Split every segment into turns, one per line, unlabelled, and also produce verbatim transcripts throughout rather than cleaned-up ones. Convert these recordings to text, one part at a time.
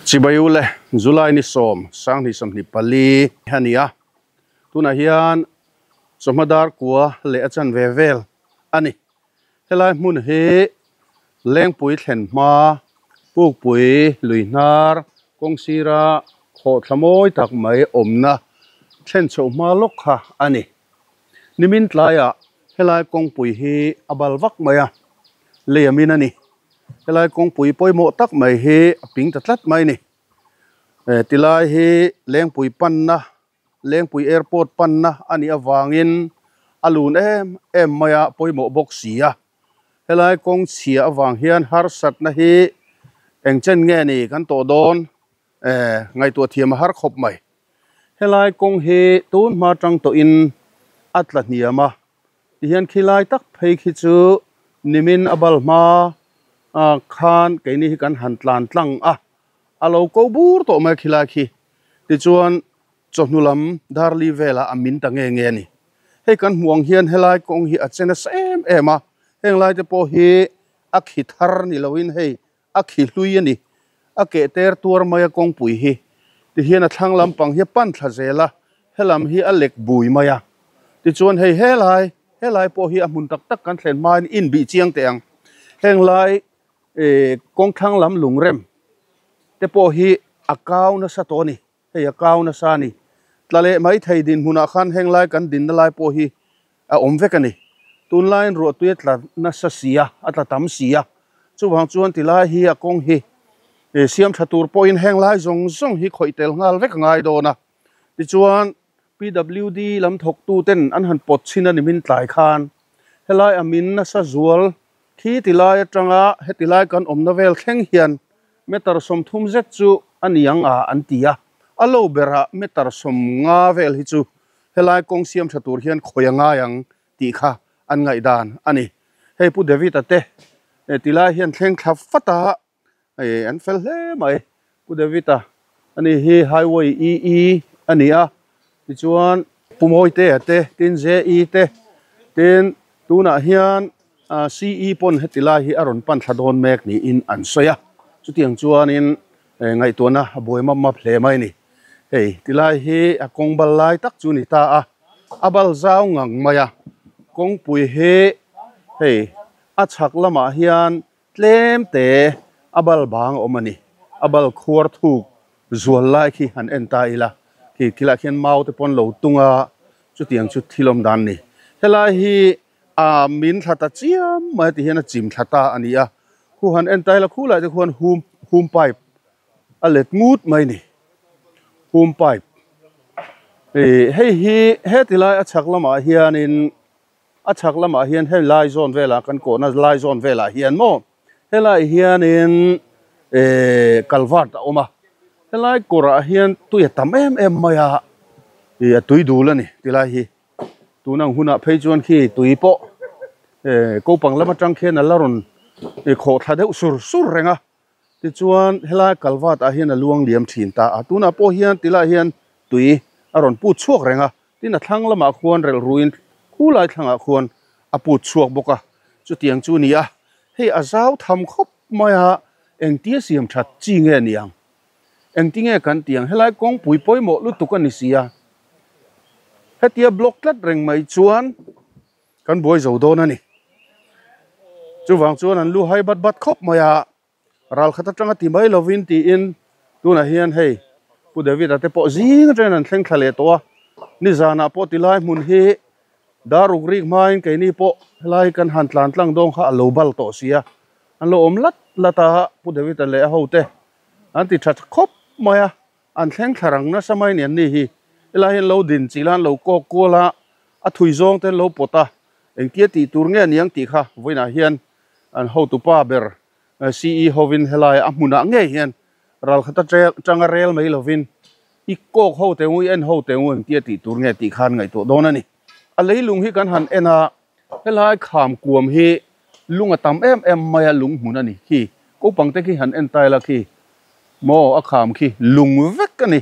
Chibayule July ni som sangni samni pali hania tuna hian chawhmadar kua leh a chan ve vel ani helai hmun hi lengpui thlen hma pukpui lui hnar kawng sira khaw thlamawi tak mai awmna thlen chho hma lawk kha ani nimin tlaiah helai kawngpui hi a bal vak mai a leiamin ani helai kawngpui pawimawh tak mai hi a ping ta tlat mai ni tilai hi lengpui panna lengpui airport panna ani awangin a lun em em mai a pawimawh bawk si a helai kawng chhia awang hian harsatna hi engchen nge ni kan tawh dawn eh ngaihtuah thiam a har khawp mai helai kawng hi tun hma tang tawhin a tla hniam a tihian khilai tak phei khi chu nimin a bal hma a khan keini hi kan han tlan tlang a a lo ko bur tawh mai khilai khi tichuan chawhnu lam darli vela a min ta nge nge ni hei kan hmuang hian helai kawng hi a chena sa em em a heng lai te pawh hi a khi thar ni loin hei a khi hlui ani a ke ter tuar mai a kawngpui hi tihian a thlang lampang hi a pan thla zel a helam hi a lek bui mai a tichuan hei helai helai pawh hi a hmun tak tak kan thlen hmain in bih chiang teh ang heng lai eh kawng thlang lam lungrem te pawh hi a kau nasa tawh ani hei a kau nasa ani tla leh mai thei din hmunah khan heng lai kan dinna lai pawh hi a awm vek ani tunlaiin ruah tui a tla nasa si a a tla tam si a chuwang chuan tilai hi a kawng hi e siam tha tur pawhin heng lai zawng zawng hi khawih tel nghal vek a ngai dawn a tichuan P W D lam thawk tu ten an han pawt chhin a nimin tlai khan helai a min nasa zual khi tilai atanga heti lai kan awmna vel thleng hian meter sawm thum zet chu aniang a an ti a a lo berah meter sawm nga vel hi chu helai kawng siam tha tur hian khawi a ngai ang tih kha an ngaih dan ani hei pu David a te tilai hian thleng thla fata eh an fel hle mai pu David a ani hi highway E E ani a tichuan pumawi te a te tin J E te tin tunah hian C E pawn heti lai hi a rawn pan thla dawn mek niin an sawi a chutiang chuanin ngaihtuahna a buai map map hle mai ni hei tilai hi a kawng bal lai tak chu ni ta a a bal zau ngang mai a kawngpui hi hei a chhak lamah hian tlem te a bal bang a awm ani a bal khuar thuk zual lai khi han en ta ila khi khilah khian mau te pawn lo tunga chutiang chu thil awm dan ni helai hi a min thla ta chiam mai ti hian a chim thla ta ani a khu han en ta ila khu lai te khuan hum hum pipe a let ngut mai ni hum pipe eh hei hi heti lai a chhak lamah hianin a chhak lamah hian hei lai zawn velah kan kawhna lai zawn velah hian maw helai hianin eh culvert a awm a helai kawrah hian tui a tam em em mai a ih a tui dul ani tilai hi tunang hunah phei chuan khi tui pawh eh kopang lam atang khian a la rawn khawh thla deuh sur sur reng a tichuan helai culvert ah hian a luang liam thin ta a tunah pawh hian tilai hian tui a rawn put chhuak reng a tin a thlang lamah khuan relh ruin khulai thlangah khuan a put chhuak bawk a chutiang chu ni a hei a zau tham khawp mai a engtia siam that chi nge niang engti nge kan tiang helai kawngpui pawimawh lutuk ani si a hetia block tlat reng mai chuan kan buai zo dawn ani chuwang chuan an lu hai bat bat khawp mai a ral khat atanga ti mai lovin tiin tunah hian hei pu David a te pawh zing atangin an thleng thla leh tawh a ni zanah pawh tilai hmun hi daruk rik hmain keini pawh helai kan han tlan tlang dawn kha a lo bal tawh si a an lo awm lat lat a pu David a leh a ho te an ti tha khawp mai a an thleng thla rang nasa mai ni an ni hi helai hian lo din chi lan lo kawk kual a a thui zawng te lo pawt a engtia tih tur nge niang tih kha vawiinah hian an hotupa ber C E hovin helai a hmunah nge hian ral khata tanga rel mai lovin i kawk ho te ngui en ho te ngu engtia tih tur nge tih khan ngaihtuah dawn ani a leilung hi kan han en a helai kham kuam hi lung a tam em em mai a lung hmun ani khi kopang te khi han en tai la khi maw a kham khi lung vek ani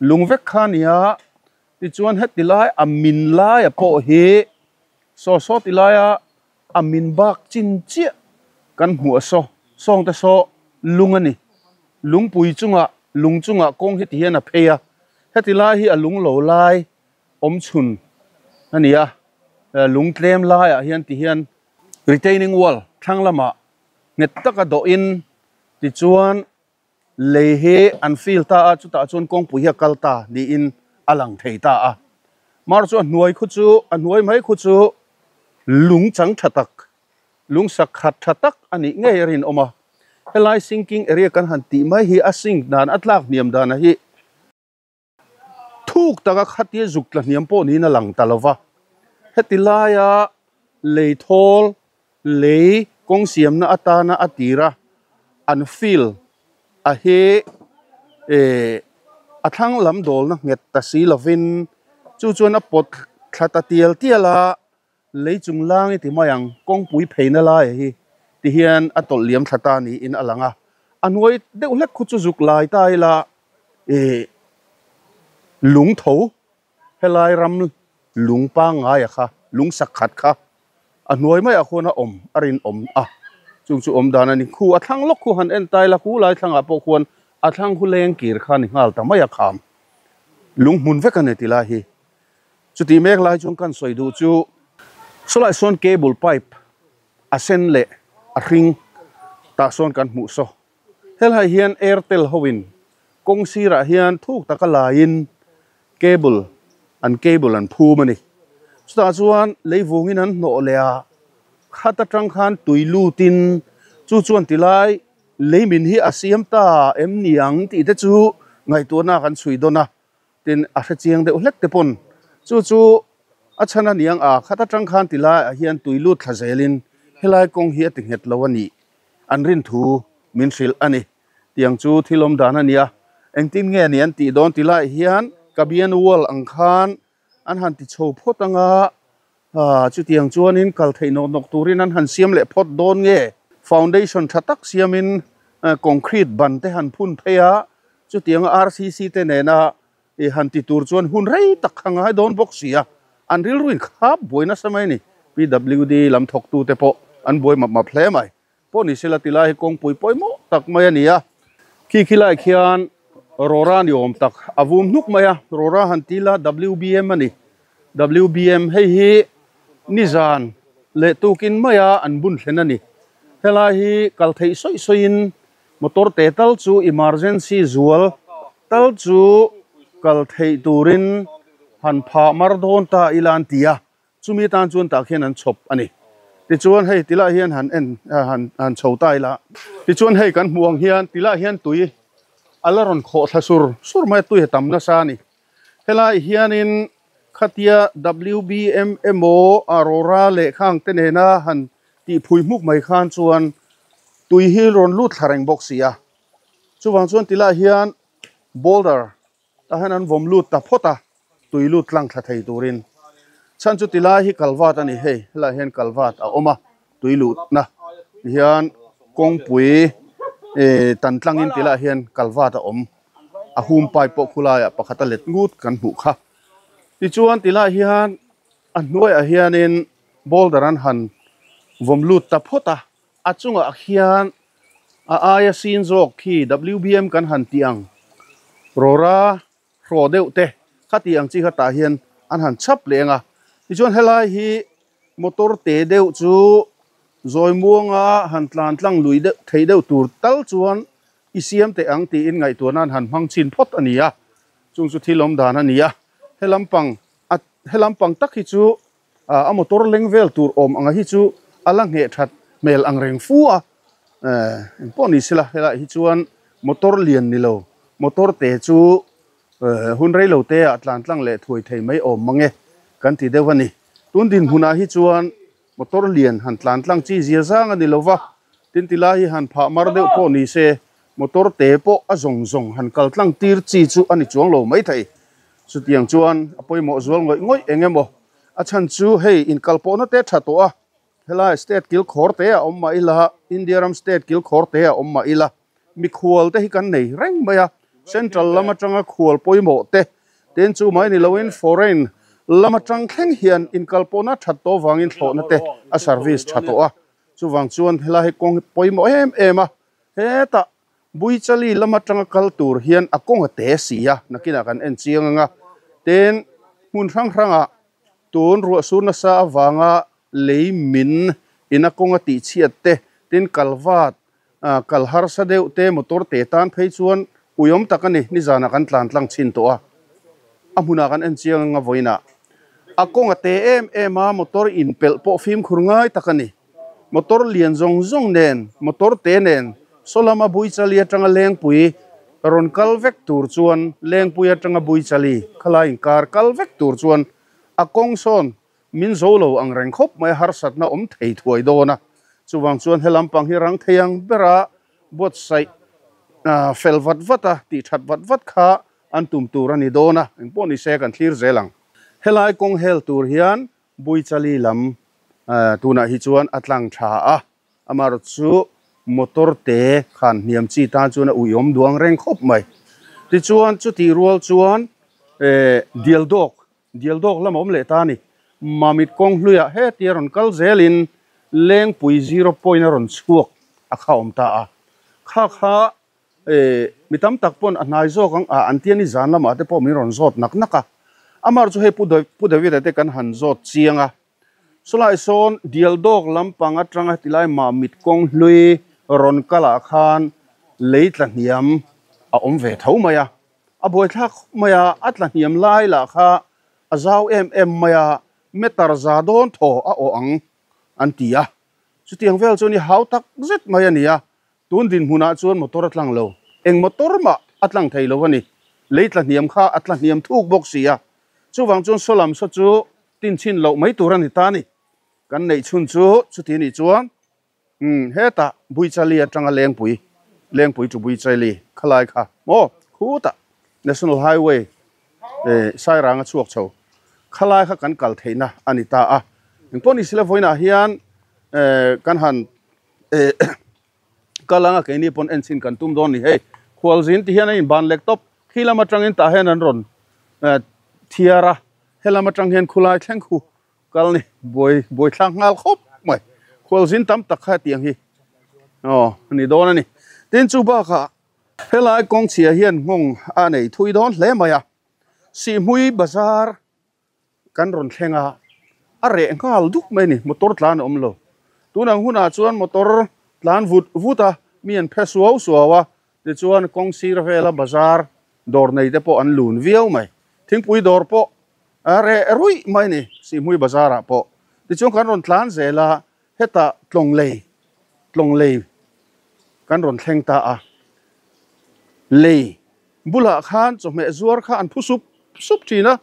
lung vek kha nia tichuan heti lai a min lai a pawh hi saw saw ti laia a min bak chin chiah kan hmuh a saw sawng te saw lung ani lungpui chunga lung chunga kawng hi ti hian a phei a heti lai hi a lung lo lai awm chhun ani a lung tlem lai ah hian ti hian retaining wall thlang lama nget taka do in ti chuan lei he an feel ta a chutah chuan kawngpui hi a kal ta niin a lang thei ta a mar chu a hnuai khu chu a hnuai mai khu chu lung chang tha tak lung sak khat tha tak ani ngei rin awm a helai sinking area kan han tih mai hi a sink dan a tlak hniam dan a hi thuk taka khatia zuk tla hniam pawh niin a lang ta lova heti laia lei thawl lei kawng siamna atana a tira an feel a hi eh a thlang lam dawl na nget ta si lovin chu chuan a pawt thla ta tial tial a lei chung lang i ti mai ang kawngpui pheina lai hi ti hian a tawlh liam thla ta niin a lang a a hnuai deuh hlek khu chu zuk lai ta ila eh lung tho helai ram lung pangngai a kha lung sak khat kha a hnuai mai ah khuan a awm a rin awm a chung chu awm dan ani khu a thlang lawk khu han en tai la khu lai thlangah pawh khuan a thlang khu leng kir kha ni nghal ta mai a kham lung hmun vek ani ti lai hi chuti mek lai chuan kan sawi duh chu sawlai sawn cable pipe a sen leh a hring tah sawn kan hmuh saw helai hian airtel hoin kawng sirah hian thuk taka laiin cable an cable an phum ani chutah chuan leivungin an hnawh leh a khat atang khan tui lutin chu chuan tilai leimin hi a siam ta em niang tih te chu ngaihtuahna kan chhui dawn a tin a hre chiang deuh hlek te pawn chu chu a chhan a niang a khat atang khan tilai ah hian tui lut thla zelin helai kawng hi a ti nghet lo ani an rin thu min hrilh ani tiang chu thil awm dan ani a engtin nge ani an tih dawn tilai hian kabian wall ang khan an han ti chho phawt anga ah chutiang chuanin kal theih nawk nawk turin an han siam leh phawt dawn nge foundation tha tak siamin concrete ban te han phun phei a chutiang R C C te nena i han ti tur chuan hun rei tak kha ngai dawn bawk si a an rilruin khap buaina samai ni P W D lam thawk tu te pawh an buai map map hle mai pawh ni sela tilai hi kawngpui pawimawh tak mai ani a khi khilai khian rora ni awm tak a vum hnuk mai a rora han tila W B M ani W B M hei hi nizan leh tukin mai a an bun thlen ani helai hi kal theih sawi sawiin motor te tal chu emergency zual tal chu kal theih turin han pha mar dawn ta ilan tia chumi tan chuan tah khian an chhawp ani tichuan hei tilai hian han en han han chho ta ila tichuan hei kan hmuang hian tilai hian tui ala rawn khawh thla sur sur mai tui tam nasa ani helai hianin khatia W B M emaw arora leh khang te nena han tih phui hmuk mai khan chuan tui hi rawn lut thla reng bawk si a chuwang chuan tilai hian boulder tah hian an vawm lut ta phawt a tui lut tlang thla thei turin chan chu tilai hi kalvat ani hei helai hian kalvat a awm a tui lut na hian kawngpui eh tan tlangin tilai hian kalvat a awm a hum pipe pawh khulaiah pakhat a let ngut kan hmuh kha tichuan tilai hian a hnuaiah hianin boulder an han vawm lut ta phawt a a chungah khian a aia sin zawk khi W B M kan han ti ang rora hraw deuh te khati ang chi kha tah hian an han chhap leng a tichuan helai hi motor te deuh chu zawi muanga han tlan tlang lui deuh thei deuh tur tal chuan i siam te ang tiin ngaihtuahna an han hmang chin phawt ani a chung chu thil awm dan ani a helampang a helampang tak hi chu a motor leng vel tur awm anga hi chu ala nge that mel ang reng fu a eh engpawh ni sela helai hi chuan motor lian ni lo motor te chu hun rei lo te ah tlan tlang leh thuai thei mai awm mange kan ti deuh ani tun din hunah hi chuan motor lian han tlan tlang chi zia zang ani lova tin tilai hi han phah mar deuh pawh ni se motor te pawh a zawng zawng han kal tlang tir chi chu ani chuang lo mai thei chutiang chuan a pawimawh zual ngawih ngawih engemaw a chhan chu hei inkal pawhna te tha tawh a helai state kil khawr te a awm mah ila India ram state kil khawr te a awm mah ila mikhual te hi kan nei reng mai a central lam atanga khual pawimawh te ten chu mai ni loin foreign lam atang thleng hian inkal pawhna that tawh wangin thlawhna te a service tha tawh a chuwang chuan helai hi kawng pawimawh em em a heta Buichali lama tanga kal tur hian a kawnga te sia nakina kan en chianga ten hmun hrang hranga tun ruah sur nasa awanga lei min ina kawnga ti chhiat te tin kalwat kalhar sa deuh te motor te tan phei chuan uyom takani ni zana kan tlan tlang chin to a a hmuna kan en chianga voina a kawnga te em em a motor in pel pawh fim khur ngai takani motor lian zong zong nen motor te nen solama Buichali atanga Lengpui ron kal vek tur chuan Lengpui atanga Buichali khala in kar kal vek tur chuan a kawng sawn min zo lo ang reng khawp mai harsat na awm thei thuai dawn a chuwang chuan helam pang hi rang theiang bera buat sai fel vat vata ti that vat vat kha an tum tur ani dawn a engpawh ni se kan thlir zelang helai kawng hel tur hian Buichali lam tunah hi chuan a tlang tha a amar chu motor te khan hniam chi tan chuan a uiawm duang reng khawp mai ti chuan chu ti rual chuan eh dial dawk dial dawk lam awm leh ta ni mamit kawng hluiah he tia rawn kal zelin Lengpui zero point a rawn chhuak a kha awm ta a kha kha eh mi tam tak pawn a hnai zawk ang a an tiani zan lamah te pawh min rawn zawt nak nak a amar chu hei pu pu David te kan han zawt chiang a solai sawn dial dawk lampang atanga tilai mamit kawng hlui ron kala khan lei tla hniam a awm ve tho mai a a buai thlak mai a a tla hniam lai lah kha a zau em em mai a meter za dawn thaw a aw ang an ti a chutiang vel chu ni hau tak zet mai ani a tun din hmunah chuan motor a tlang lo eng motor ma a tlang thei lo ani lei tla hniam kha a tla hniam thuk bawk si a chuwang chuan solam saw chu tin chin lo mai tur ani ta ni kan nei chhun chu chuti ni chuan um heta Buichali atanga Lengpui Lengpui chu Buichali khalai kha mo khuta National Highway eh Sairanga chuak chho khalai kha kan kal theina ani ta a engpawh ni sila voina hian eh kan han eh kalanga keini pawn en chin kan tum dawn ni hei khualzin ti hian a in ban lek top khilam atangin tah hian an rawn thiara helam atang hian khulai thleng khu kal ni buai buai thlak nghal khawp mai khualzin tam tak kha tiang hi aw ni dawn ani tin chu bakah helai kawng chhia hian nghawng a nei thui dawn hle mai a Sihhmui bazar kan rawn thlenga a reh nghal duk mai ni motor tlan a awm lo tunang hunah chuan motor tlan vut vut a mi an phe suau suau a tichuan kawng sir vela bazar dawr nei te pawh an lun viau mai thingpui dawr pawh a reh ruih mai ni Sihhmui bazarah pawh tichuan kan rawn tlan zela heta tlawng lei tlawng lei kan rawn thleng ta a lei bulah khan chawhmeh zuar kha an phu sup sup thin a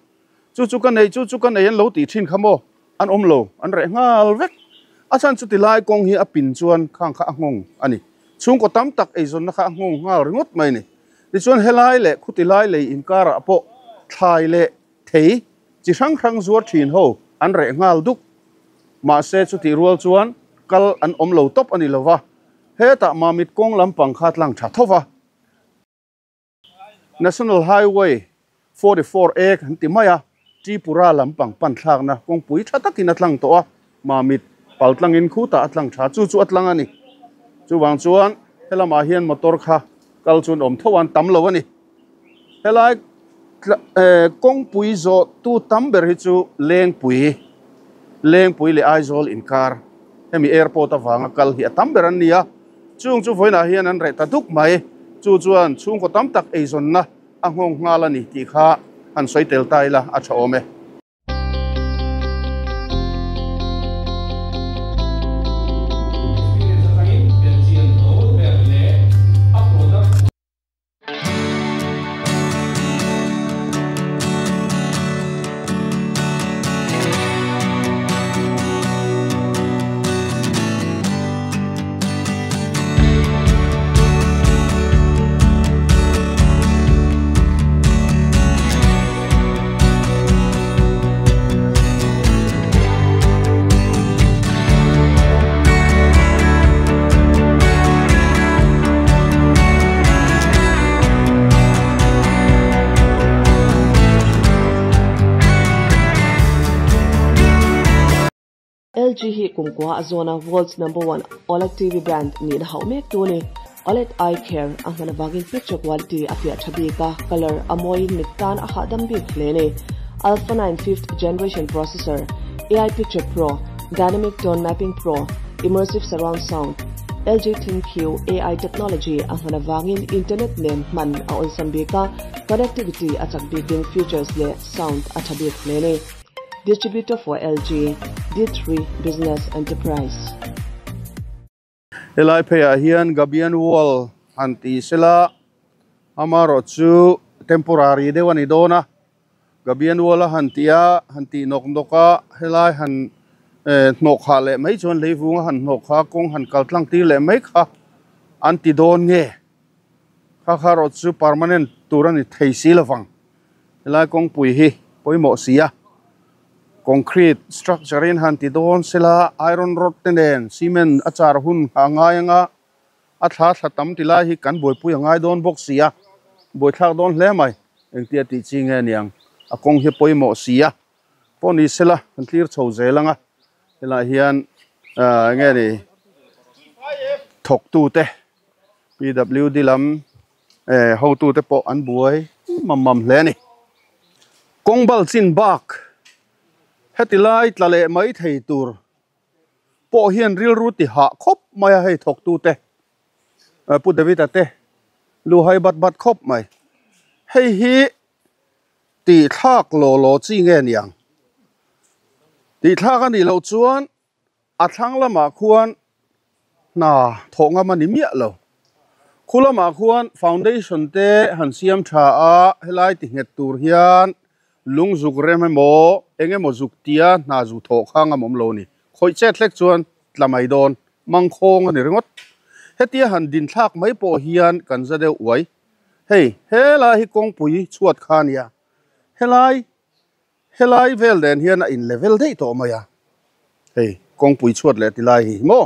chu chu ka nei chu chu ka nei an lo tih thin kha maw an awm lo an reh nghal vek a chan chu tilai kawng hi a pin chuan khang kha a nghawng ani chhungkaw tam tak eizawnna kha a nghawng nghal ringawt mai ni tichuan helai leh khutilai lei inkarah pawh thlai leh thei chi hrang hrang zuar thin ho an reh nghal duk mahse chu ti rual chuan kal an awm lo tawp ani lova hetah mamit kawng lampang kha tlang tha thova National Highway forty-four A kan ti mai a Tripura lampang pan thlak na kawngpui tha takin a tlang tawh a mamit pal tlangin khuta a tlang tha chu chu a tlang ani chuwang chuan helamah hian motor kha kal chuan awm tho an tam lo ani helai kawngpui zawh tu tam ber hi chu Lengpui Lengpui leh Aizawl inkar hemi airport awanga kal hi a tam ber an ni a chung chu vawiinah hian an reh ta duk mai chu chuan chhungkaw tam tak eizawnna a nghawng nghal ani tih kha han sawi tel ta ila a tha awm e.
L G hi kumkwa azona world's number one OLED T V brand ni na hau mek tu ni. OLED eye care a hman awangin picture quality a fiah tha bik a colour a mawiin mit tan a hahdam bik hle a ni Alpha nine fifth generation processor AI Picture Pro Dynamic Tone Mapping Pro Immersive Surround Sound LG ThinQ AI technology a hman awangin internet nen hman a awlsam bik a connectivity a chak bikin features leh sound a tha bik hle a ni Distributor for LG D three Business Enterprise.
Helai pheiah hian Gabian wall han ti sela amarawh chu temporary deuh a ni dawn a Gabian wall a han ti a han tih nawk nawk a helai han eh hnawh khah leh mai chuan leivung a han hnawh kha kawng han kal tlang tir leh mai kha an ti dawn nge kha kha rawh chu permanent tur a ni thei si lovang helai kawngpui hi pawimawh si a concrete structure in han ti dawn sela iron rod te nen cement a char hun a ngai anga a thla thla tam ti lai hi kan buaipui a ngai dawn bawk si a buaithlak dawn hle mai engtia tih chi nge niang a kawng hi pawimawh si a pawh ni sela kan thlir chho zel anga helai hian ah enge ni thawk tu te P W D lam eh hotu te pawh an buai mam mam hle a ni kawng bal chin bak heti lai tla leh mai thei tur pawh hian rilru ti hah khawp mai a hei thawk tu te pu David a te lu hai bat bat khawp mai hei hi ti thlak law law chi nge niang ti thlak ani lo chuan a thlang lamah khuan hna thawh ngam ani miah lo khu lamah khuan foundation te han siam tha a helai ti nghet tur hian lung zuk rem emaw engemaw zuk tia hna zu thawh kha ngam awm lo ni khawih chet hlek chuan tla mai dawn mangkhawng ani ringawt hetia han din thlak mai pawh hian kan za deuh uai hei helai hi kawngpui chhuat kha ania helai helai vel den hian a in level daih tawh mai a hei kawngpui chhuat leh ti lai hi maw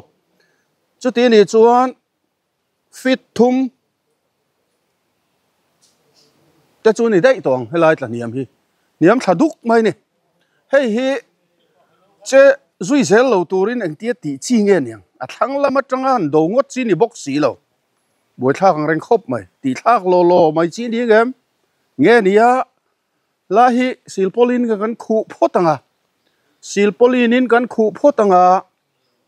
chuti ni chuan fit thum te chu ni daih tawng helai tla hniam hi hniam thla duk mai ni hei hi che zui zel lo turin engtia tih chi nge niang a thlang lama tanga han do ngawt chi ni bawk si lo buaithlak ang reng khawp mai tih thlak law law mai chi ni ngem nge nia la hi silpaulin ka kan khuh phawt anga silpaulin in kan khuh phawt anga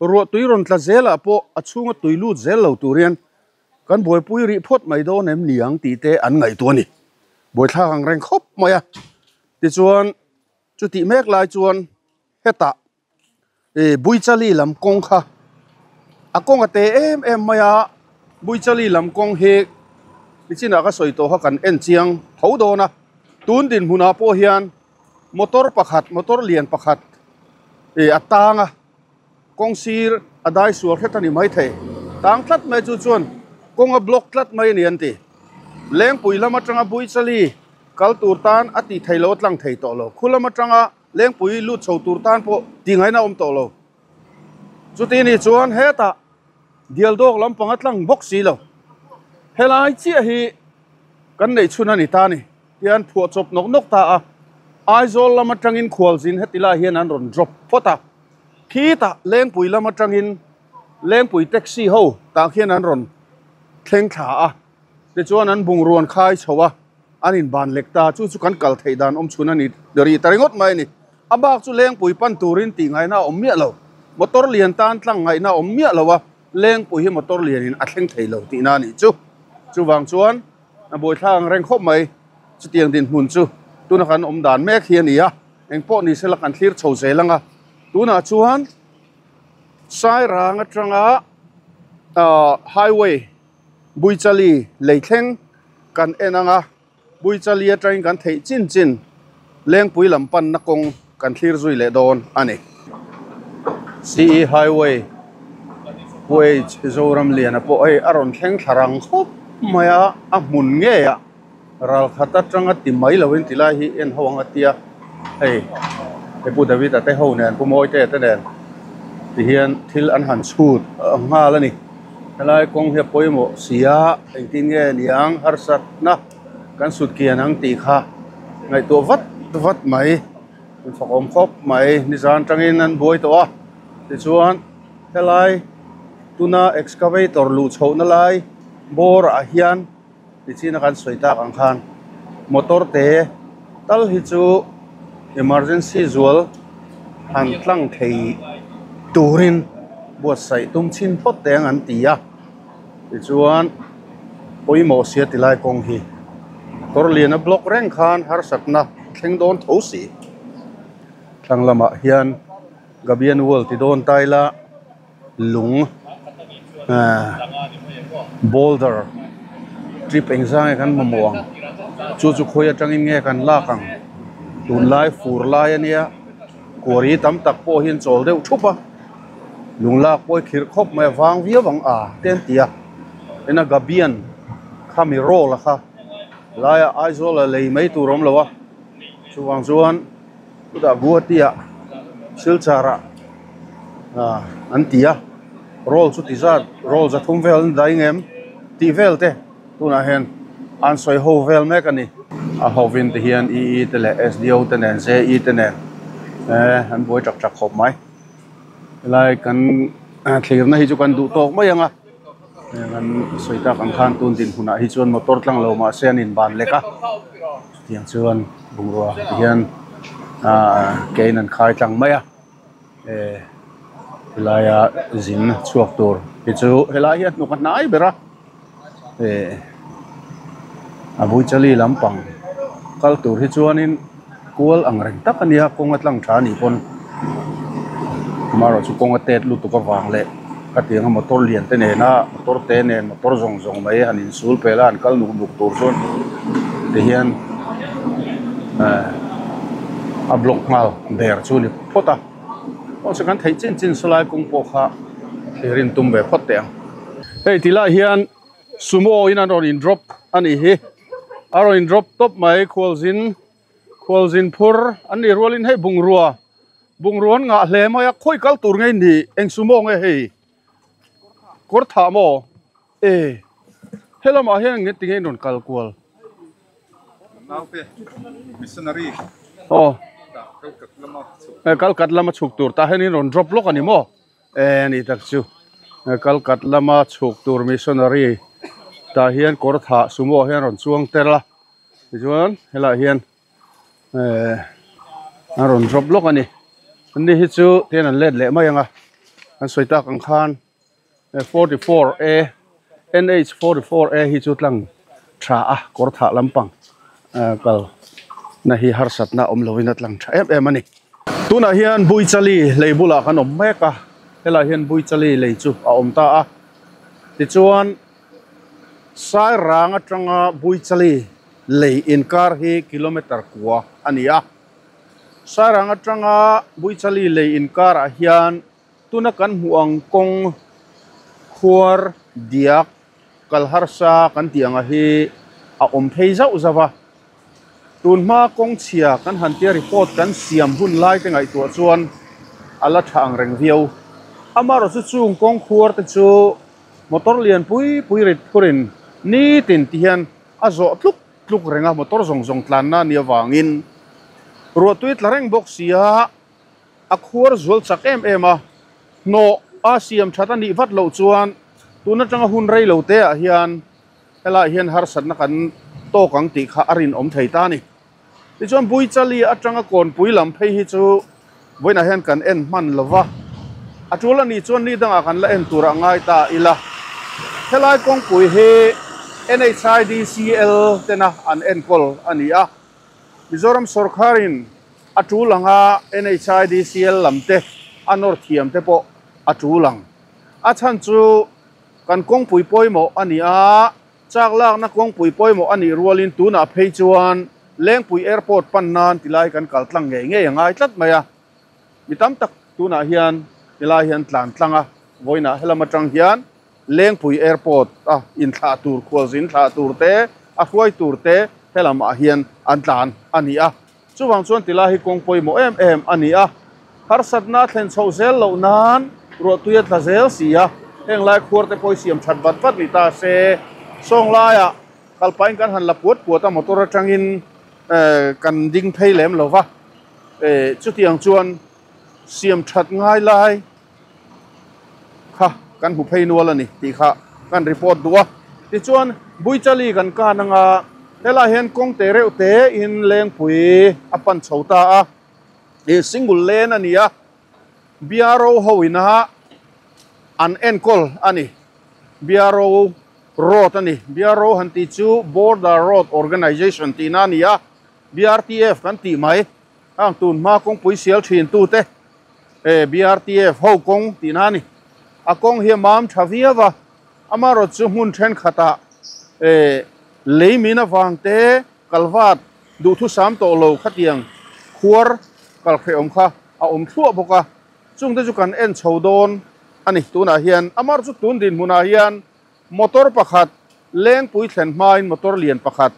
ruah tui rawn tla zelah pawh a chhunga tui lut zel lo turin kan buaipui rih phawt mai dawn em niang tih te an ngaihtuah a ni buaithlak ang reng khawp mai a tichuan chuti mek lai chuan hetah e buichali lam kawng kha a kawng a te em em mai a buichali lam kawng hi nichinah ka sawi tawh kha kan en chiang tho dawn a tun din hmunah pawh hian motor pakhat motor lian pakhat e a tang a kawng sir a dai sual hret ani mai thei tang tlat mai chu chuan kawng a block tlat mai ani an ti lengpui lam atanga buichali kal tur tan a ti thei lo tlang thei tawh lo khu lam atanga lengpui lut chho tur tan pawh ti ngaina awm tawh lo chuti ni chuan hetah dial dawk lampang a tlang bawk si lo helai chiah hi kan nei chhun ani ta ni tian phuah chawp nawk nawk ta a Aizawl lam atangin khualzin heti lai hian an rawn drop phawt a khitah lengpui lam atangin lengpui taxi ho tah khian an rawn thleng thla a tichuan an bungruan khai chho a an in ban lek ta chu chu kan kal thei dan awm chhun ani ri ta ringawt mai ani a bak chu lengpui pan turin tih ngaina awm miah lo motor lian tan tlang ngaina awm miah lo a lengpui hi motor lianin a thleng thei lo tih na ani chu chuwang chuan a buaithlak ang reng khawp mai chutiang din hmun chu tuna kan awm dan mek hi ani a engpawh ni sela kan thlir chho zel anga tunah chuan Sairang atanga ah highway buichali leithleng kan en anga buichali atangin kan theih chin chin lengpui lam pan na kawng kan thlir zui leh dawn ani C E highway wage Zoram lian a pawh hei a rawn thleng thlarang khawp mai a a hmun nge a ral khat atanga ti mai lovin ti lai hi en ho anga tia hei he pu David a te ho nen pu mawi te te nen ti hian thil an han chhut nghal ani helai kawng hi a pawimawh si a engtin nge niang harsat na kan sut kian ang tih kha ngaihtuah vat vat mai in fak awm khawp mai nizan tangin an buai tawh a tichuan helai tuna excavator luh chhoh na lai Bawrah hian tichhin a kan sawi tak ang khan motor te tal hi chu emergency zual han tlang thei turin buatsaih tum chhin phawt te ang an ti a tichuan pawimawh sia ti lai kawng hi motor lian a block reng khan harsatna thleng dawn tho si thlang lamah hian gabian wall ti dawn taila lung ah boulder trip engzang nge kan mamawh ang chu chu khawi atangin nge kan lak ang tunlai fur lai ania quarry tam tak pawh hian chawl deuh thup a lung lak pawh hi khirh khawp mai a vang viau ang a te an ti a ena gabian khami roll a kha laia Aizawl a lei mai tur awm lo a chuvang chuan chutah Guwahati ah Silchar ah ah an ti a roll chu ti zat roll za thum vel an dai ngem tih vel te tunah hian an sawi ho vel mek a ni a hovin te hian E E te leh S D O te nen J E te nen eh an buai tak tak khawp mai helai kan thlirna hi chu kan duh tawk mai ang a kan sawi tak ang khan tun din hunah hi chuan motor tlang lo mahse an inban lek a chutiang chuan bungrua ti hian ah kein an khai tlang mai a eh helaia zin chhuak tur hi chu helai hi a hnuk a hnai ber a eh a buichali lampang kal tur hi chuanin kual ang reng tak a nia kawng a tlang tha anih pawn amaherawhchu kawng a tet lutuk avang leh ka tiang a motor lian te nena motor te nen motor zawng zawng mai han insul pel a an kal nuk nuk tur chuan ti hian eh a block nghal der chu ni phawt a aw chu kan theih chin chin sawlai kawng pawh kha thlirin tum ve phawt teh ang hei ti lai hian sumo in an rawn in drop ani hi a rawn in drop tawp mai khualzin khualzin phur an nih rualin hei bungrua bungrua an ngah hle mai a khawi kal tur nge ni eng sumo nge hei kawr thah maw e helamah hian nge tinge in rawn kal kual
naute missionary
aw
kalkat lama chhuk
kalkat lama chhuk tur tah hian in rawn drop lawk ani maw e ani tak chu kalkat lama chhuk tur missionary tah hian kawr thah sumo hian rawn chuang tel a tichuan helaiah hian eh an rawn drop lawk ani ani hi chu tian an let leh mai ang a an sawi tak ang khan forty four a N H forty four a hi chu tlang tha a kawr thah lampang kal na hi harsatna awm lovin a tlang tha em em ani tunah hian buichali lei bulah kan awm mek a helaiah hian buichali lei chu a awm ta a tichuan sairang atanga buichali lei inkar hi kilometer kua ani a sairang atanga buichali lei inkar ah hian tuna kan hmuh ang kawng khuar diak kalharsa kan tih anga hi a awm phei zauh zauh a tun hma kawng chhia kan han tia report kan siam hun lai te ngaihtuah chuan a la tha ang reng viau amaherawh chu chung kawng khuar te chu motor lian pui pui rit phurin nitin ti hian a zawh tluk tluk renga motor zawng zawng tlanna ni awangin ruahtui tla reng bawk sia a khuar zual chak em em a hnawh a siam that anih vat loh chuan tun atanga hun rei lo te ah hian helaiah hian harsatna kan tawk ang tih kha a rin awm thei ta ani tichuan buichali atanga kawnpui lam phei hi chu vawiinah hian kan en hman lova a tul ani chuan ni dangah kan la en turah ngai ta ila helai kawngpui hi N H I D C L tena an enkawl ani a Mizoram sarkarin a tul anga N H I D C L lam te a nawr thiam te pawh a tul ang a chhan chu kan kawngpui pawimawh ani a chak lakna kawngpui pawimawh ani rualin tunah phei chuan Lengpui airport pan nan tilai kan kal tlang ngei ngei angai tlat mai a mi tam tak tunah hian tilai hian tlan tlang a vawiinah helam atang hian Lengpui airport a inthlah tur khualzin thlah tur te a hruai tur te helamah hian an tlan ani a chuwang chuan tilai hi kawng pawimawh em em ani a harsatna thlen chho zel loh nan ruahtui a tla zel si a heng lai khuar te pawh siam that vat vat ni ta se sawng laiah kalpain kan han la puat puat a motor atangin eh kan ding phei lem lova eh chutiang chuan siam that ngai lai kha kan hmu phei nual ani tih kha kan report duh a Ti chuan Buichali kan kan anga helai hian kawng te reuh te in Lengpui a pan chho ta a e single lane ani a B R O ho ina an enkol ani B R O road ani B R O han ti chu Border Road Organization ti na ani a B R T F kan ti mai ang tun ma kawng pui sial thin tu te e B R T F ho kawng ti na ani a kawng hi mam thaviawa amaro chu hmun then khata e leimina wangte kalwat du thu sam to lo khatiang khuar kal khreom kha a om thua boka chungte chu kan en chodon ani tuna hian amar chu tun din hmuna hian motor pakhat Lengpui thlen hmain motor lian pakhat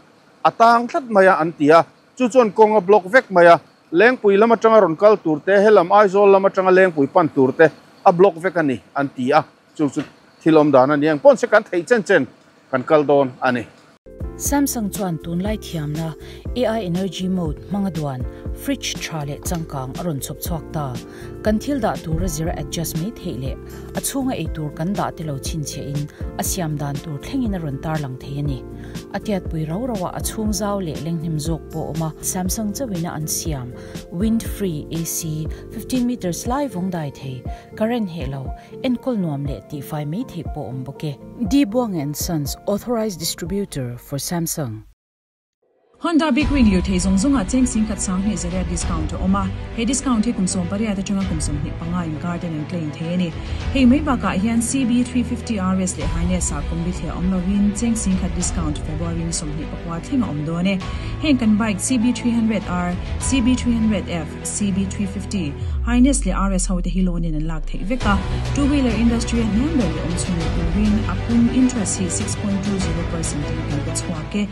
atang thlat maya an tia chu chuan kawnga block vek maya Lengpui lama tanga rawn kal tur te helam Aizawl lama tanga Lengpui pan tur te a block vek ani an tia chu chu thilom dan ani ang pon se kan thei chen chen kan kal don ani.
Samsung chuan tunlai thiamna A I energy mode mangaduan fridge thale changkang aron chop chhuak ta kan thil da tur zira adjust mai theile a chunga ei tur kan da te lo chin che in a siam dan tur thlengin aron tar lang thei ani atiat pui ro rawa a chung zau le lenghnim jok po oma Samsung chawina an siam wind free A C fifteen meters live ong dai thei current helo enkol nuam le ti fai mai thei po om boke D Buang and Sons authorized distributor for Samsung.
Honda Big Wing liu thei zong zonga cheng sing khat sang he zera discount oma he discount he kumsom paria ta chunga kumsom ni panga in garden and claim the ni hei mai ba ka hian C B three fifty R S le haine sa kombi the omlowin cheng sing khat discount February ni som ni pakwa thlenga om do ne heng kan bike C B three hundred R C B three hundred F C B three fifty Highness le R S ho te hi loan in an lak thei veka two wheeler industry an ber le om chunga win apun interest hi six point two zero percent in kan ka chhuake.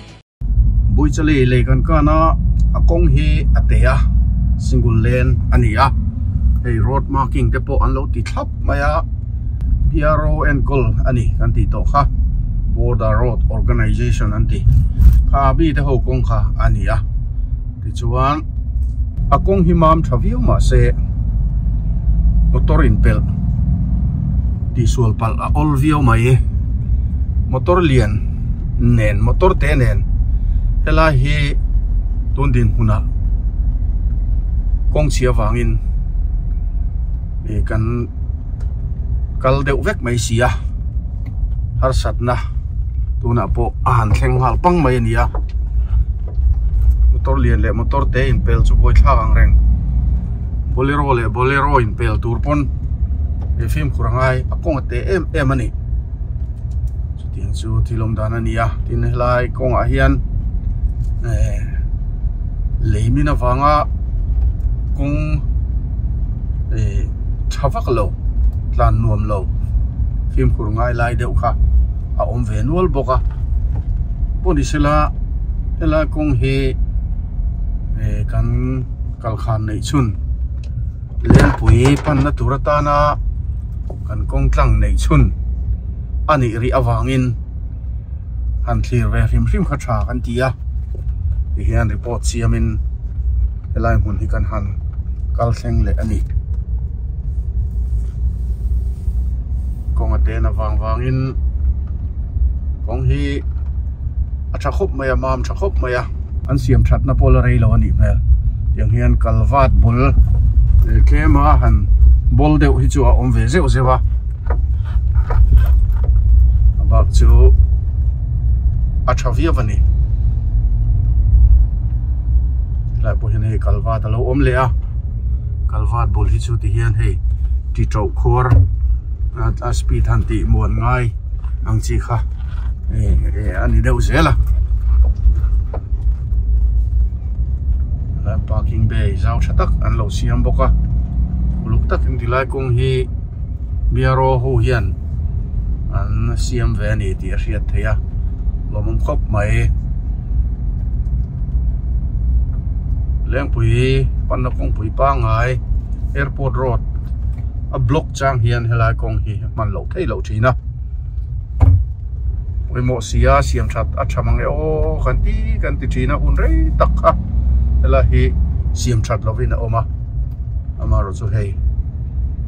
Buichali le kan kana akong hi atea single lane ania hei road marking te po an lo ti thlap maya B R O enkol ani kan ti to kha Border Road Organization an ti kha bi te ho kong kha ania ti chuan akong hi mam thaviu ma se motor in pel ti sual pal a ol viau mai motor lian nen motor te nen helai hi tun din huna kawng chhia wangin e kan kal deuh vek mai sia har satna tuna pawh a han thleng nghal pang mai ania motor lian leh motor te in pel chu bawi thlak ang reng bolero leh bolero in pel tur pawn e fimkhur angai a kawng a te em em ani chutiang chu thilawm dan ania tin helai kawngah hian leimina wanga kawng e thavak lo tlan nuam lo fimkhur ngai lai deuh kha a awm ve nual bawk a pawh sela helai kawng hi e kan kalkhan nei chhun Lengpui panna tur atana kan kawng tlang nei chhun ani ri awangin han thlir ve hrim hrim kha tha kan ti a ti hian report siamin helai hmun hi kan han kal thleng leh ani kawng a te na wang wangin kawng hi a tha khawp mai a mam tha khawp mai a an siam thatna pawh la rei lo ani hmel tiang hian kalwat bul tlema han bol deuh hi chu a awm ve zeuh zeuh a a bak chu a tha viau ani lai pawh hian hei kalwat a lo awm leh a kalwat bul hi chu ti hian hei ti tauh khuar a speed han tih muan ngai ang chi kha e ani deuh zel a lai parking bay zau tha tak an lo siam bawk a uluk tak in tilai kawng hi B R O ho hian an siam ve ani tih a hriat thei a lawmawm khawp mai Lengpui panna kawngpui pangai airport road a block chang hian helai kawng hi hman loh thei loh thin a pawimawh sia siam that a tha mang e aw kan ti kan ti thin a hun rei tak kha helai hi siam that lovin a awm a amarawh chu hei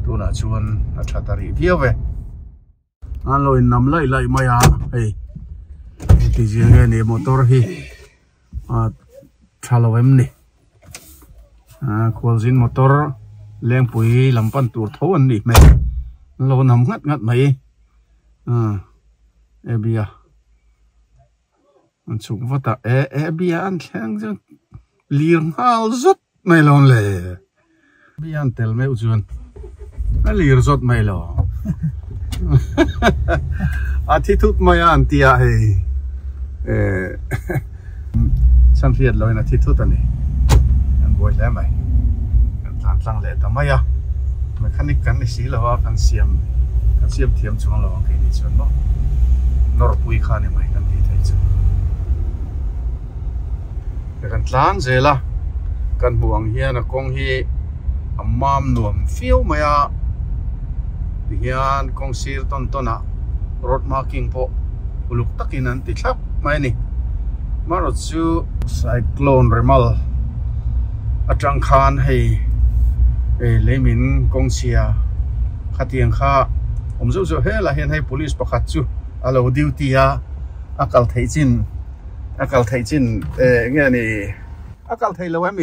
tunah chuan a tha ta rih viau ve an lo in nam lai lai mai a hei Ti zia nge ni motor hi a thalo em ni a khualzin motor lengpui lampan tur tho an ni mai lo nam ngat ngat mai a e bia an chuk vata e e bia an thleng chu lir ngal zot mai lon le bia an tel meu chuan a lir zot mai lo a thi thut mai an tia hei e chan fiat loin a thi thut ani an boi hle mai kan tlan tlang leh ta mai a mechanic kan ni si lo a kan siam kan siam thiam chuang lo ang keini chuan maw nawr pui kha ni mai kan ti thei chu kan tlan zela kan hmu ang hian a kawng hi a mam nuam fiau mai a ti hian kawng sir tawn tawn ah road marking pawh uluk takin an ti thlap mai ani marawh chu cyclone remal atang khan hei e leimin kawng chhia khatiang kha awm zeuh zeuh hel ah hian hei police pakhat chu a lo duty a a kal theih chin a kal theih chin e nge ni a kal thei lo em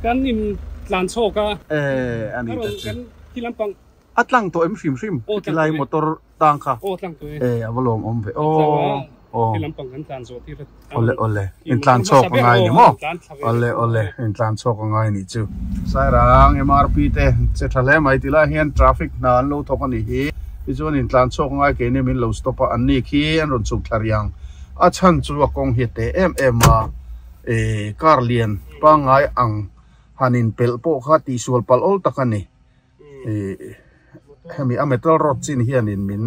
kan in tlan chhawk a
e ani ta chu
kan khi lampang
a tlang tawh em hrim hrim tilai motor tang kha
aw tlang tawh
e a va lawm awm ve aw aw
khi lampang kan tlan zawh tir
ole ole in tlan chhawk a ngai ni maw ole ole in tlan chhawk a ngai ni chu Sairang M R P te che tha hle mai tilai hian traffic hna an lo thawk ani hi tichuan in tlan chhawk ngai ke ni min lo stop a an ni khi an rawn chhuk thla riang a chhan chu a kawng hi te em em a e car lian pangai ang hanin pel pawh kha ti sual pal ol tak ani e hemi a metal rod chin hian in min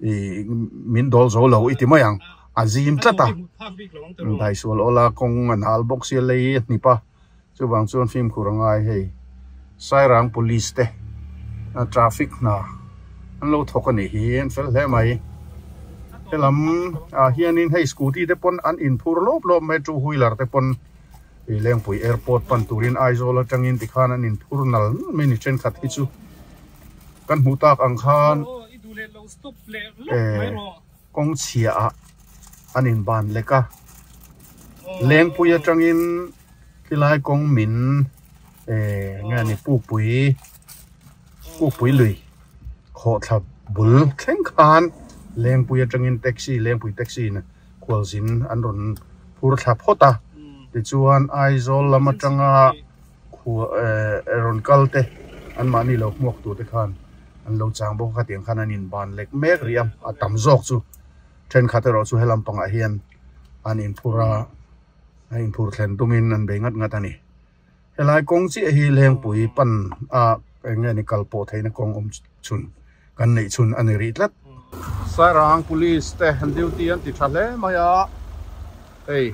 e min dol zo lo iti mai ang a zim tlata dai sual ola kawng an hal bawk sia lei hnipa chuwang chuan fim khur angai hei Sairang police te traffic na an lo thawk ani hi an fel hle mai helam ah hianin hei scooty te pawn an inphur lawp lawp mai two wheeler te pawn i Lengpui airport pan turin Aizawl atangin tikhan an inphur nal mai ni thenkhat hi chu kan hmuh tak ang khan e kawng chhia ah an inban lek a Lengpui atangin tilai kawng min e nge ni pukpui pukpui lui khaw thla bul thleng khan Lengpui atangin taxi Lengpui taxi na khualzin an rawn phur thla phawt a tichuan Aizawl lam atanga khu e rawn kal te an mahni lo hmuak tur te khan an lo chang bawk a khatiang khan an inban lek mek rih a a tam zawk chu thenkhat erawh chu helam pangah hian an inphur a a inphur thlen tumin an bei ngat ngat ani helai kawng chiah hi Lengpui pan a eng nge ni kal pawh theihna kawng awm chhun kan neih chhun ani rih tlat Sairang police te an duty an ti tha hle mai a hei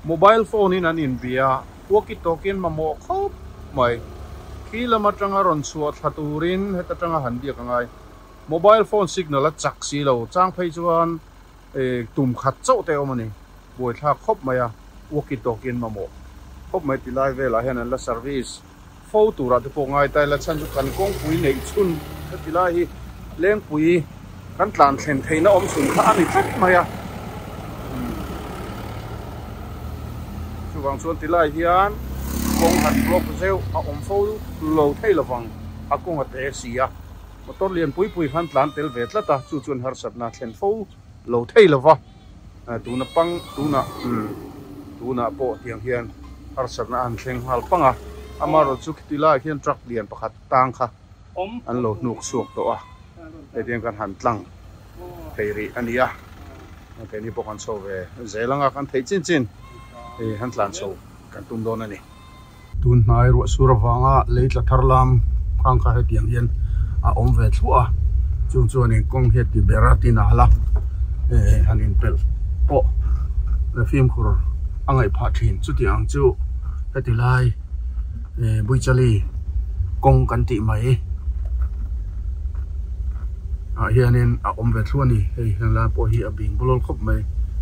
mobile phone in an inbia walkie talkie an mamawh khawp mai khi lam atanga rawn chhuah thla turin heta tanga han biak angai mobile phone signal a chak si lo chang phei chuan e tum khat chauh te awm ani buai thlak khawp mai a walkie talkie an mamawh khawp mai tilai velah hian an la service fo turah te pawh ngai ta ila chhan chu kan kawngpui neih chhun tilai hi Lengpui kan tlan thlen theihna awm chhun kha ani tlat mai a chuwang chuan tilai hian kawng han block zeuh a awm fo lo thei lovang a kawng a te si a motor lian pui pui khan tlan tel ve tlat a chu chuan harsatna thlen fo lo thei lova tuna pang tuna tuna pawh tiang hian harsatna an thleng nghal pang a amarawh chu tilai hian truck lian pakhat tang kha an lo hnuk chhuak tawh a hetiang kan han tlang thei rih ani a keini pawh kan chho ve zelanga kan thei chin chin e han tlan chho kan tum dawn ani tun hnai ruah sur awanga lei tla thar lam khang kha hetiang hian a awm ve thluah a chung chuan in kawng hi ti bera tin a hala e han inpel pawh fim khur a ngaih phah thin chutiang chu heti lai e Buichali kawng kan tih mai ah hianin a awm ve thluah ani hei heng lai pawh hi a bing bulawlh khawp mai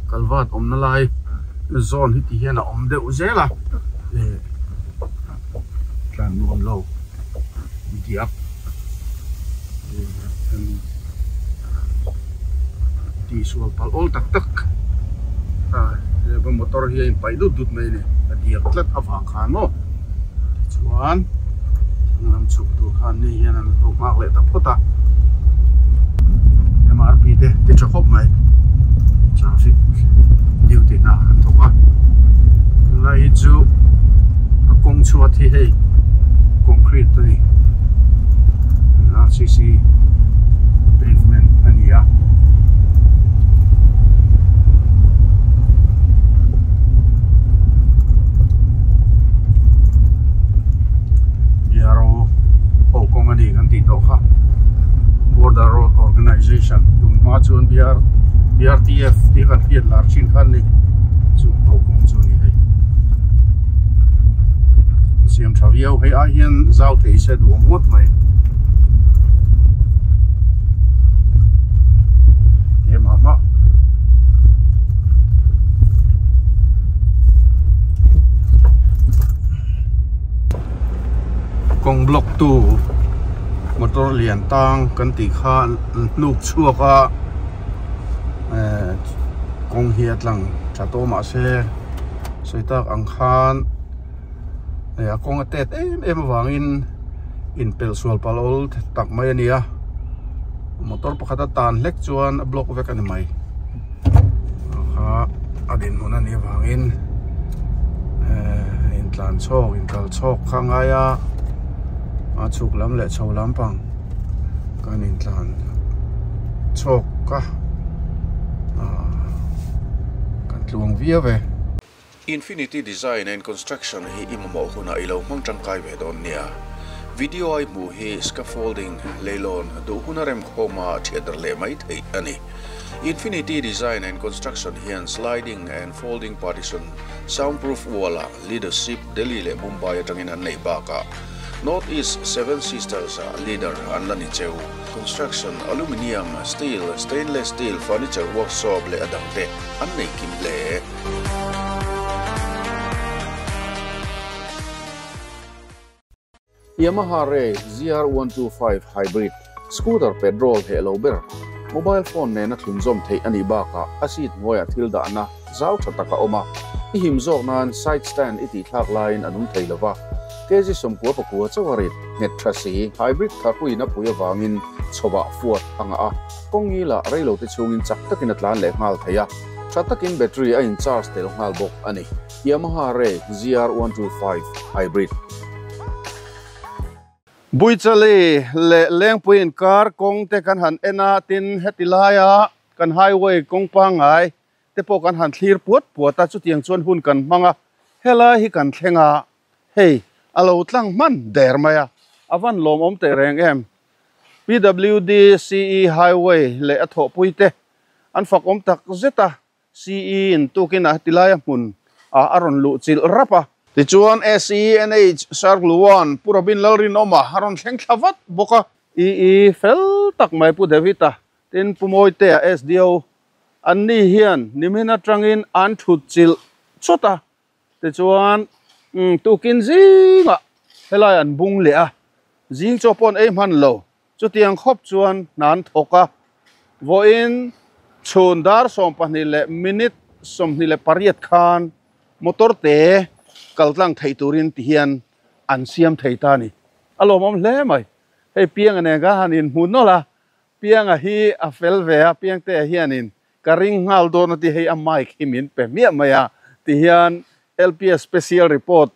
kalvat awmna lai zawn hi ti hian a awm deuh zel a e tlan nuam lo diak ti sual pal awl tak tak Motor hi a inpaih dut dut mai a ni a diak tlat avang khan maw tichuan lam chhuk tur khan ni hian an lo nghak leh ta phawt a M R P te ti tha khawp mai traffic duty na an thawk a tunlai hi chu a kawng chhuat hi hei concrete a ni R C C pavement a ni a B R O ho kawng a ni kan tih tawh kha Border Road Organization tunhma chuan B R B R T F tih kan hriat lar thin khan ni chu ho kawng chu ni hei siam tha viau hei ah hian zau thei se duh ngawt mai te mah mah kawng block tu motor lian tang kan tih kha hnuk chhuak a eh kawng hi a tlang tha tawh mah se sawi tak ang khan a kawng a tet em em awangin in pel sual pal awl tak mai a ni a motor pakhat a tan hlek chuan a block vek a ni mai kha a din hmun a ni awangin eh in tlan chhawk in kal chhawk kha ngai a a chhuk lam leh chho lampang kan in tlan chhawk ka kan tluang viau ve. Infinity Design and Construction hi imamo huna ilo hmang tangkai ve dawn nia. Video ai hmu hi scaffolding leilon du huna rem khoma theater le mai thei ani. Infinity Design and Construction hian sliding and folding partition soundproof wall leadership Delhi le Mumbai atangin an nei baka. North East Seven Sisters leader an lani cheu. Construction aluminium steel stainless steel furniture workshop le adangte an nei kim le. Yamaha Ray Z R one two five Hybrid scooter petrol he lo ber mobile phone ne na thlunzom thei ani baka a seat hnuaia thil dah na zau tha taka awm a i him zawk nan side stand i tih thlak laiin an awm thei lova kg sawmkua pakua chawarit nghet tha si hybrid tharpuina pui awangin chhawah fuat anga a kawngi lah reilo te chungin chak takin a tlan leh nghal thei a tha takin battery a in charge tel nghal bawk ani Yamaha Ray Z R one two five Hybrid. Buichali le lengpuiin kar kawng te kan han en a tin heti laia kan highway kawng pangai te pawh kan han thlir puat puat a chutiang chuan hun kan hmang a helai hi kan thleng a hei a lo tlang hman der mai a avan lawm awm teh reng em P W D C E highway leh a thawhpui te an fak awm tak zet a C E in tukin a heti laia hmun a a rawn luh chilh rap a tichuan S E N H Circle one Purabin Lalrin awm a a rawn thleng thla vat bawk a E E fel tak mai Pu David a tin Pu Mawi te a S D O an ni hian nimin atangin an thut chilh chawt a tichuan tukin zingah helai an bung leh a zing chaw pawh an ei hman lo chutiang khawp chuan hna an thawk a vawiin chhun dar sawm pahnih leh minute sawmhnih leh pariat khan motor te kaltlang thei turin ti hian an siam thei ta ni a lawm awm hle mai hei piang nen ka han in hmu nawlh a pianga hi a fel ve a piang te hianin ka ring nghal dawn a ti hei a mic hi min pe miah mai a ti hian L P S special report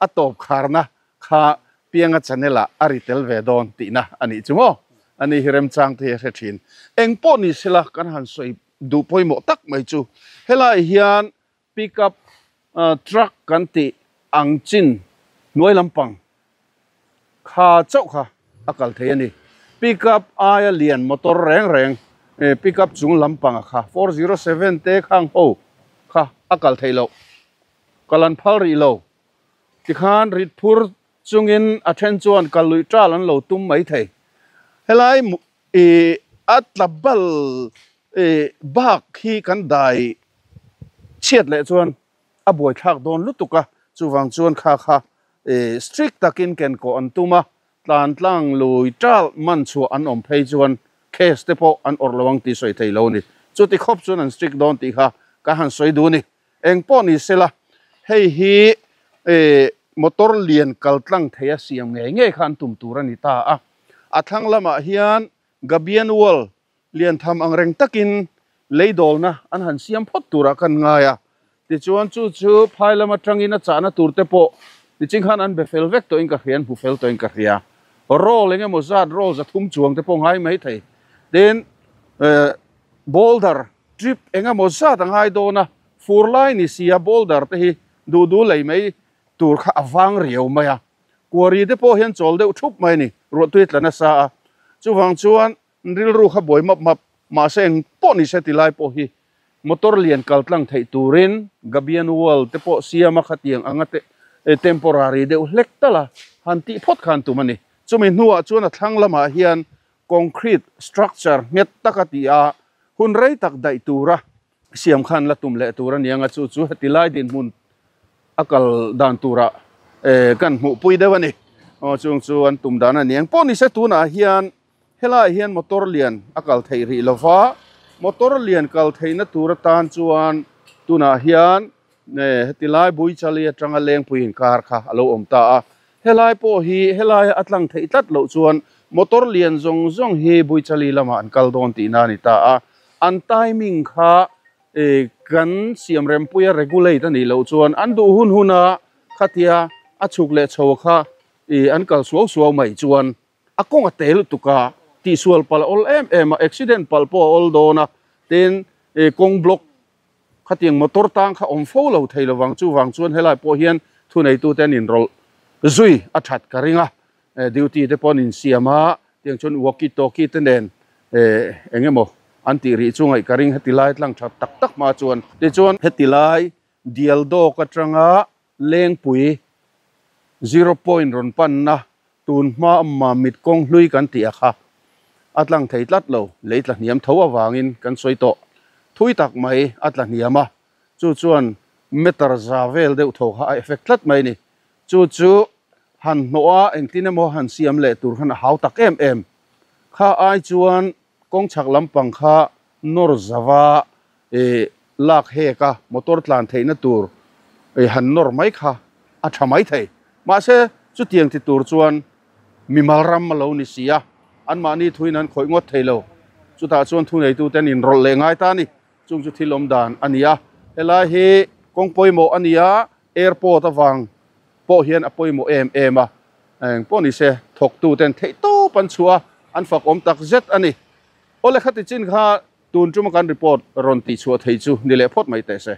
a tawp kharna kha pianga channel a a ri tel ve dawn tihna ani chu maw ani hi remchang te hi a hre thin eng pawh ni sela kan han sawi duh pawimawh tak mai chu helai hian pickup truck kan tih ang chin hnuai lampang kha chauh kha a kal thei ani pickup aia lian motor reng reng pickup chung lampang a kha four zero seven te khang ho kha a kal thei lo kalan phal ri lo tikhan rit phur chungin a then chuan kalui tal an lo tum mai thei helai e atlabal e bak hi kan dai chiat leh chuan a buai thlak dawn lutuka chuwang chuan kha kha e strict takin ken ko an tuma tlan tlang lui tal man chu an awm phei chuan case te pawh an awrh lo ang tih sawi thei lo ni chuti khawp chuan an strict dawn tih kha ka han sawi du ni Eng pawh ni sela hei hi e motor lian kaltlang theia siam nge nge khan tum tur ani ta a. A thlang lamah hian gabian wall lian tham ang reng takin leidol na an han siam phot tura kan ngaia. Ti chuan chu chu phai lama tangin a chana tur te pawh ti ching khan an befel vek to in ka hian hu fel to in ka hria roll enge maw zat roll za thum chuang te pawh ngai mai thei. Tin boulder trip enga maw zat angai dawna fur lai ni sia boulder te hi du du lei mai tur kha awang riau mai a. Kuari te pawh hian chawl deuh thup mai ni ruahtui tlana sa a. Chuwang chuan ril ru kha boi map map ma seng pawh ni se ti lai pawh hi motor lian kaltlang thei turin gabian wall te pawh siama khatiang anga te temporary deuh hlek tala han ti phot khan tum ani. Chumi hnuah chuan a thlang lamah hian concrete structure nget taka ti a hun rei tak dai tura siam khan la tum leh tur anianga chu chu heti lai din hmun akal dan tura kan hmuh pui deuh ani. Aw chung chu an tum dan aniang pawh ni se tunah hian helai hian motor lian akal thei ri lova motor lian kal theina tura tan chuan tunah hian heti lai bui chali atanga leng puiin kar kha alo awm ta a. Helai pawh hi helai atlang thei tlat lo chuan motor lian zawng zawng hi bui chali lama an kal dawn tih na ani ta a. An timing kha kan siam rem puia regulate ani lo chuan an duh hun huna khatia a chhuk leh chho kha an kal suau suau mai chuan a kawng a tel tuka ti sual pal ol em em a accident pal pawh a ol dawn a. Tin kawng block khatiang motor tang kha awm fo lo thei lovang chu wang chuan helai pawh hian thu nei tu ten in roll zui a that ka ringa duty te pawh in siama tiang chuan walkie talkie te nen engemaw an ti ri chungai ka ring heti lai tlang that tak tak ma chuan ti chuan heti lai dial dawk atanga lengpui zero point ron pan na tun hma ma mit kawng hlui kan ti a kha atlang thei tlat lo leitla hniam tho awangin kan sawi tawh thui tak mai atla hniama chu chuan meter za vel deuh tho kha a effect tlat mai ni. Chu chu han hnoa engtin emaw han siam leh tur khan a hau tak em em kha ai chuan kawng chhak lampang kha nawr zawa e lak heka motor tlan theihna tur e han nawr mai kha a tha mai thei. Mahse chu tiang ti tur chuan mimal ram lo ni sia an mahni thuin an khawih ngawt thei lo chutah chuan thu nei tu ten in rawlh leh ngai ta ni chung chu thil awm dan ania. Helai hi kawng pawimawh ania airport awang pawh hian a pawimawh em em a eng pawh ni se thawk tu ten theih tawp an chhuah an fak awm tak zet ani. Awle khati chin kha tun chuma kan report ron ti chhuah thei chu ni leh phawt mai teh se.